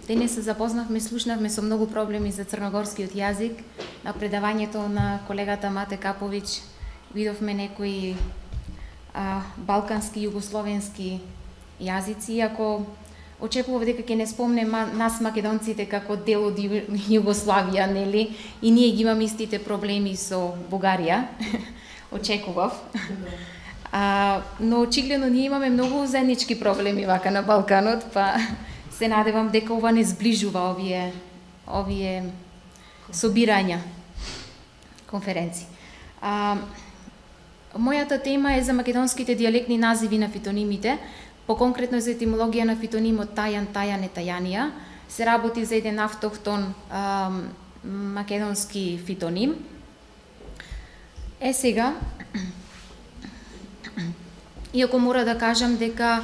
Денес се запознавме, слушнавме со многу проблеми за црногорскиот јазик. На предавањето на колегата Мате Каповиќ видовме некои балкански, југословенски јазици, иако очекував дека ќе не спомне нас македонците како дел од Југославија, нели? И ние ги имаме истите проблеми со Бугарија. Очекував. Но очигледно ние имаме многу заеднички проблеми вака на Балканот, па се надевам дека ова не зближува овие собирања, конференции. Мојата тема е за македонските дијалектни називи на фитонимите, поконкретно за етимологија на фитонимот тајан, тајане, тајанија. Се работи за еден автохтон македонски фитоним. Сега, иако мора да кажам дека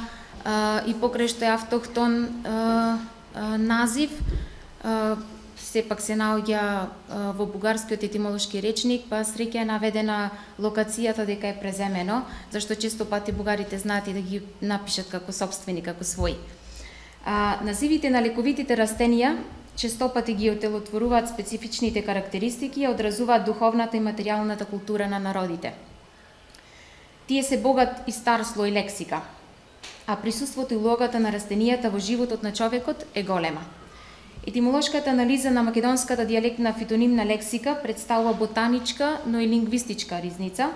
и покрај што е автохтон назив, сепак се наоѓа во бугарскиот етимолошки речник, па среќа е наведена локацијата дека е преземено, зашто често пати бугарите знаат и да ги напишат како сопствени, како своји. Називите на лековитите растенија често пати ги отелотворуваат специфичните карактеристики и одразуваат духовната и материјалната култура на народите. Тие се богат и стар слој лексика, а присуството и улогата на растенијата во животот на човекот е голема. Етимолошката анализа на македонската дијалектна фитонимна лексика представува ботаничка, но и лингвистичка ризница.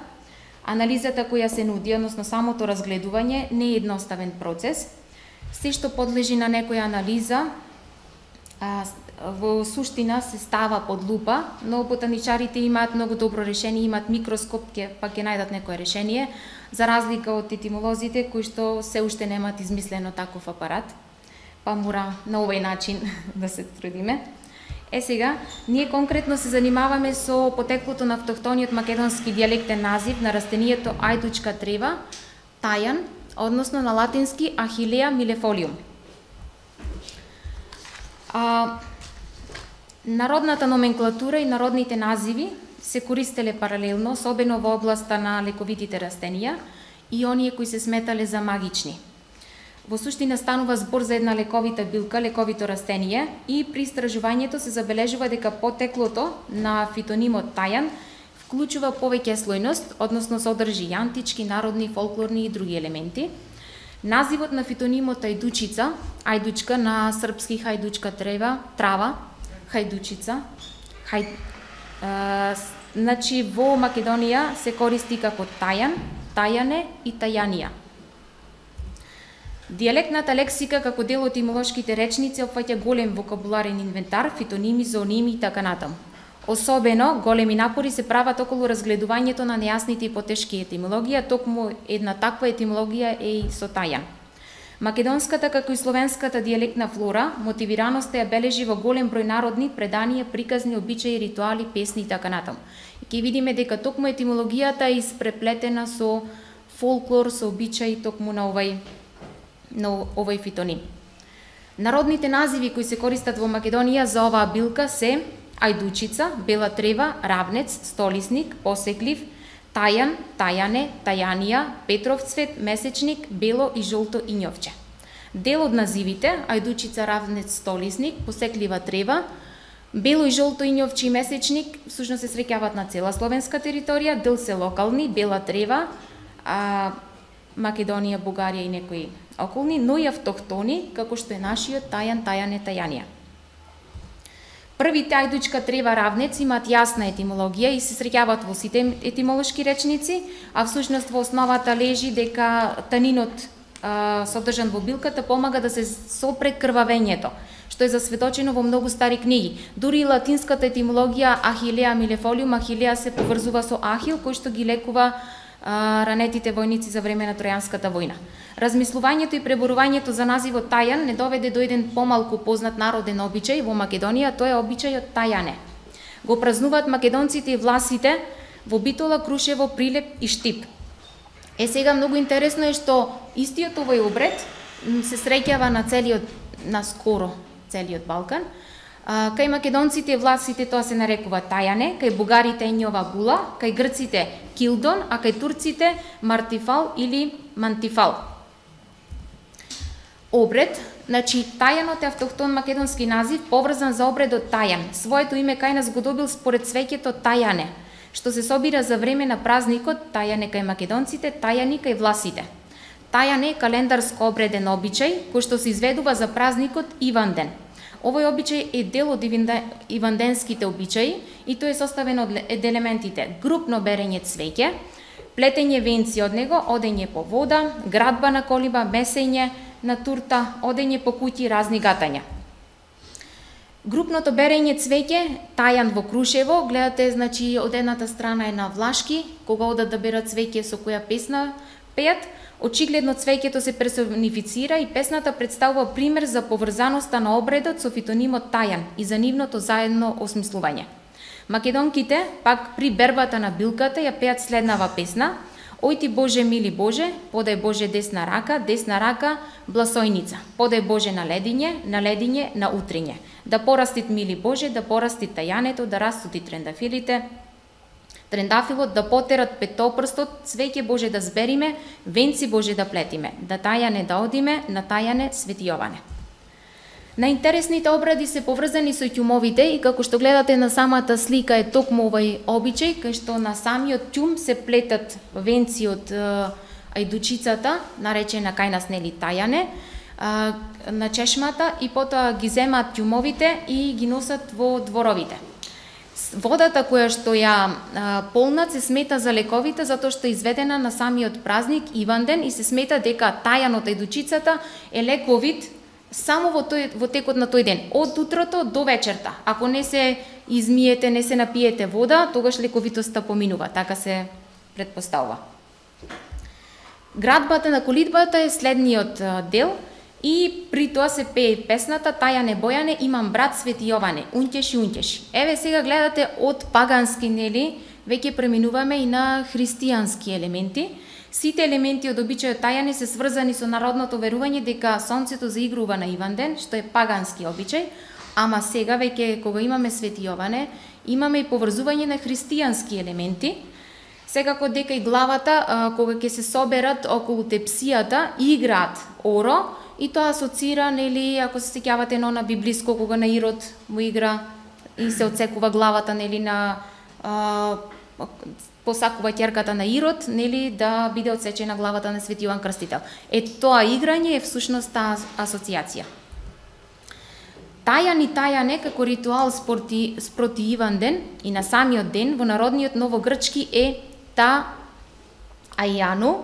Анализата која се нуди, односно самото разгледување, не е едноставен процес. Се што подлежи на некоја анализа, во суштина се става под лупа, но ботаничарите имаат многу добро решение, имаат микроскоп, па ќе најдат некое решение, за разлика од етимолозите кои што се уште немаат измислено таков апарат, па мора на овој начин да се трудиме. Сега, ние конкретно се занимаваме со потеклото на автохтониот македонски дијалектен назив на растенијето ајдучка трева, тајан, односно на латински Ахилеа милефолиум. Народната номенклатура и народните називи се користеле паралелно, особено во областа на лековитите растенија и оние кои се сметале за магични. Во суштина станува збор за една лековита билка, лековито растение, и при истражувањето се забележува дека потеклото на фитонимот тајан вклучува повеќе слојност, односно содржи и антички, народни, фолклорни и други елементи. Називот на фитонимот ајдучица, ајдучка на српски хајдучка трава, хајдучица, значи во Македонија се користи како тајан, тајане и тајанија. Дијалектната лексика како дел од етимолошките речници опфаќа голем вокабуларен инвентар, фитоними, зооними и така натаму. Особено големи напори се прават околу разгледувањето на нејасните и потешки етимологија, токму една таква етимологија е и со тајан. Македонската како и словенската дијалектна флора мотивираноста ја бележи во голем број народни преданија, приказни, обичаи, ритуали, песни и така натаму. Ќе видиме дека токму етимологијата е испреплетена со фолклор, со обичаи токму на овој фитоним. Народните називи кои се користат во Македонија за оваа билка се ајдучица, бела трева, равнец, столисник, посеклив, тајан, тајане, тајанија, петров цвет, месечник, бело и жолто ињовче. Дел од називите, ајдучица, равнец, столисник, посеклива трева, бело и жолто ињовче и месечник, всушност се среќаваат на цела словенска територија, дел се локални, бела трева, Македонија, Бугарија и некои околни, но и автохтони, како што е нашиот тајан, тајане, тајанија. Првите ајдучка трева равнец имаат јасна етимологија и се среќаваат во сите етимолошки речници, а всушност во основата лежи дека танинот содржан во билката помага да се сопре крвавењето, што е засведочено во многу стари книги. Дури и латинската етимологија Ахилеа милефолиум, Ахилеа се поврзува со Ахил, кој што ги лекува ранетите војници за време на Тројанската војна. Размислувањето и преборувањето за називот тајан не доведе до еден помалку познат народен обичај во Македонија, тој е обичајот тајане. Го празнуваат македонците и власите во Битола, Крушево, Прилеп и Штип. Сега многу интересно е што истиот овој обред се среќава на скоро целиот Балкан. Кај македонците и власите тоа се нарекува тајане, кај бугарите ењова була, кај грците килдон, а кај турците мартифал или мантифал. обред, значи тајанот е автохтон македонски назив, поврзан за обредот тајан. Своето име кај нас го добил според свеќето тајане, што се собира за време на празникот тајане кај македонците, тајани кај власите. Тајан е календарско обреден обичај кој што се изведува за празникот Иванден. Овој обичај е дел од иванденските обичаи и тој е составен од елементите групно берење цвеќе, плетење венци од него, одење по вода, градба на колиба, месење на турта, одење по куќи, разни гатања. Групното берење цвеќе, тајан во Крушево, гледате, значи од едната страна е на влашки, кога одат да берат цвеќе со која песна пеат, очигледно цвеќето се персонифицира и песната представува пример за поврзаноста на обредот со фитонимот тајан и за нивното заедно осмислување. Македонките, пак при бербата на билката, ја пеат следнава песна: Ој ти Боже, мили Боже, подај Боже десна рака, бласојница. Подај Боже на ледиње, на утриње. Да порастит, мили Боже, да порастит тајането, да растут и трендафилот, да потерат петопрстот, цвеќе Боже да збериме, венци Боже да плетиме, да тајане да одиме, на тајане Свети Јоване. Најинтересните обради се поврзани со ќумовите и како што гледате на самата слика е токму овој обичај, кај што на самиот ќум се плетат венци од ајдучицата, наречена кај нас нели тајане, на чешмата и потоа ги земаат ќумовите и ги носат во дворовите. Водата која што ја полнат се смета за лековите затоа што е изведена на самиот празник Иванден и се смета дека тајанот ајдучицата е лековит само во текот на тој ден, од утрото до вечерта. Ако не се измиете, не се напиете вода, тогаш лековитоста поминува, така се претпоставува. Градбата на колидбата е следниот дел и при тоа се пее песната Тајане Бојане, имам брат Свети Јоване, унтеши, унтеши. Еве сега гледате од пагански, нели, веќе преминуваме и на христијански елементи. Сите елементи од обичајот тајане се сврзани со народното верување дека сонцето заигрува на Иванден, што е пагански обичај, ама сега веќе кога имаме Свети Јоване, имаме и поврзување на христијански елементи. Секако дека и главата, кога ќе се соберат околу тепсијата, играат оро, и тоа асоцира, нели, ако се сеќавате на библиско, кога на Ирод му игра и се отсекува главата, нели, на посакува ќерката на Ирод, нели, да биде отсечена главата на Свети Јован Крстител. Тоа играње е всушност таа асоцијација. Тајан и тајане како ритуал спроти Иванден и на самиот ден во народниот новогрчки е та ајану,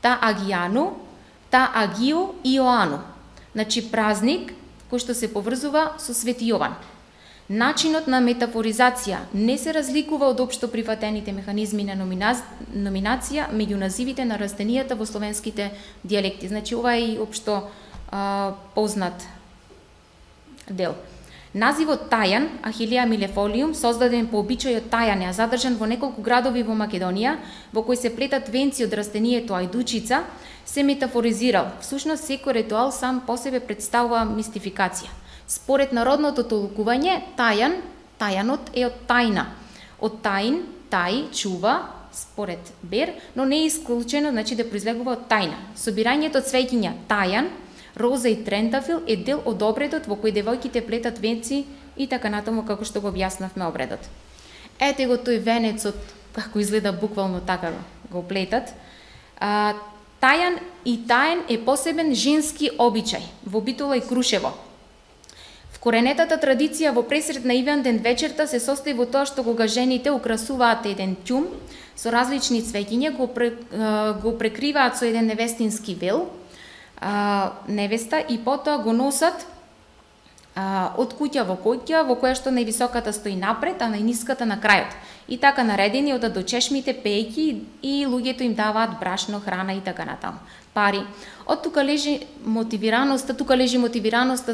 та агијану, та агио и Иоану. Значи празник кој што се поврзува со Свети Јован. Начинот на метафоризација не се разликува од општо прифатените механизми на номинација меѓу називите на растенијата во словенските дијалекти. Значи ова е и општо познат дел. Називот тајан, Ахилија милефолиум, создаден по обичајот тајане, а задржан во неколку градови во Македонија, во кои се плетат венци од растението ајдучица, се метафоризирал. Всушност секој ритуал сам по себе представува мистификација. Според народното толкување, тајанот е од тајна. Од тајн, тај, чува, според Бер, но не е исклучено, значи да произлегува од тајна. Собирањето цвеќиња тајан, роза и трентафил е дел од обредот во кој девојките плетат венци и така натаму како што го објаснавме обредот. Ете го тој венецот, како изгледа буквално така го плетат. Тајан и тајен е посебен женски обичај во Битола и Крушево. Коренетата традиција во пресред на Иванден вечерта се состои во тоа што кога жените украсуваат еден ќум со различни цвеќиња, го прекриваат со еден невестински вел, невеста, и потоа го носат од куќа во куќа, во која што највисоката стои напред, а најниската на крајот. И така наредени одат до чешмите пејки и луѓето им даваат брашно, храна и така натаму. Пари. Од тука лежи мотивираноста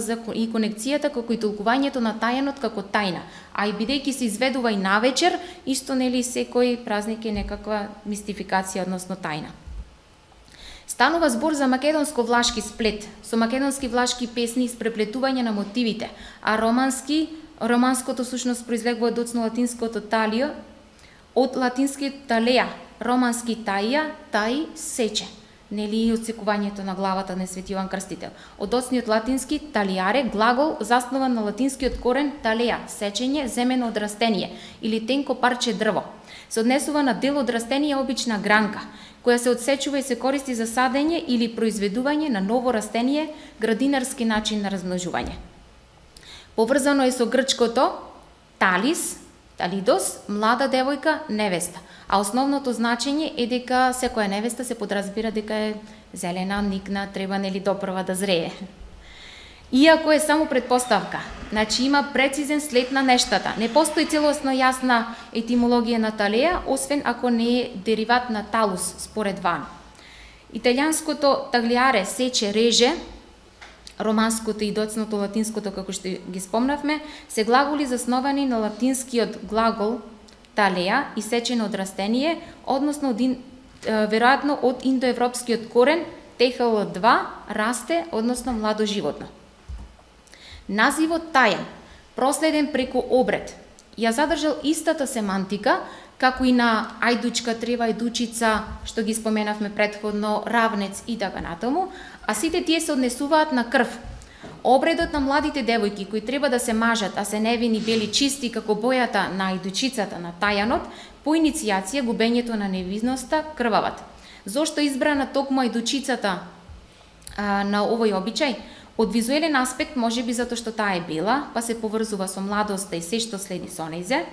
за и конекцијата како и толкувањето на тајанот како тајна. А и бидејќи се изведува и навечер, исто нели секој празник е некаква мистификација односно тајна. Станува збор за македонско-влашки сплет, со македонски-влашки песни и спреплетување на мотивите, а романското сушност произлегува од латинското талио, од латинскиот талеа, романски таија, тај, сече. нели отсекувањето на главата на Свети Јован Крстител. Од доцниот латински талиаре, глагол заснован на латинскиот корен талеа, сечење, земено од растение или тенко парче дрво. Се однесува на дел од растение, обична гранка, која се одсечува и се користи за садење или произведување на ново растение, градинарски начин на размножување. Поврзано е со грчкото талис, талидос, млада девојка, невеста. А основното значење е дека секоја невеста се подразбира дека е зелена, никна, треба нели допрва да зрее. Иако е само предпоставка, значи има прецизен след на нештата. Не постои целосно јасна етимологија на талеа, освен ако не е дериват на талус, според Ван. Италијанското таглиаре, сече, реже, романското и доцното латинското, како што ги спомнавме, се глаголи засновани на латинскиот глагол талеа и сечено од растение, односно веројатно од индоевропскиот корен техл2 расте, односно младо животно. Називот тајан, проследен преку обред, ја задржал истата семантика, како и на ајдучка, трева, ајдучица, што ги споменавме претходно, равнец и така натаму, а сите тие се однесуваат на крв. Обредот на младите девојки кои треба да се мажат, а се невини, бели, чисти како бојата на ајдучицата на тајанот, по иницијација губењето на невинноста крвават. Зошто избрана токму ајдучицата на овој обичај? Од визуелен аспект можеби затоа што таа е бела, па се поврзува со младоста и се што следи со нејзе.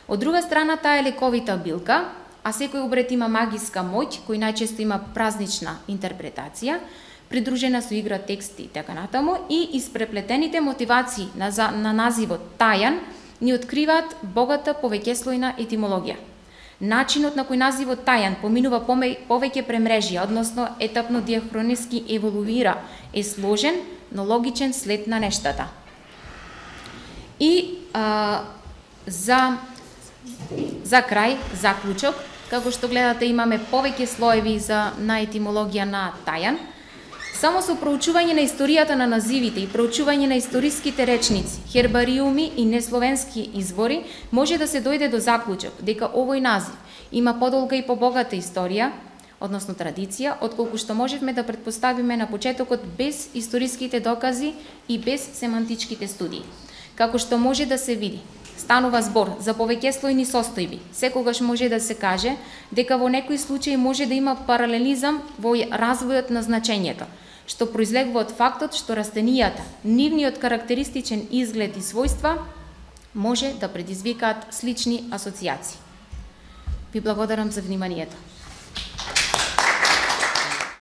Од друга страна, таа е лековита билка, а секој обред има магиска моќ, кој најчесто има празнична интерпретација, придружена со игра, тексти и така натаму, и испреплетените мотивации на називот тајан ни откриваат богата повеќеслојна етимологија. Начинот на кој називот тајан поминува повеќе премрежија, односно етапно диахрониски еволуира, е сложен, но логичен след на нештата. И за крај, заклучок, како што гледате имаме повеќе слоеви на етимологија на тајан. Само со проучување на историјата на називите и проучување на историските речници, хербариуми и несловенски извори, може да се дојде до заклучок дека овој назив има подолга и побогата историја, односно традиција, отколку што можевме да претпоставиме на почетокот без историските докази и без семантичките студии. Како што може да се види, станува збор за повеќеслојни состојби. Секогаш може да се каже дека во некој случај може да има паралелизам во развојот на значењето, што произлегува од фактот што растенијата, нивниот карактеристичен изглед и својства може да предизвикаат слични асоцијации. Ви благодарам за вниманието.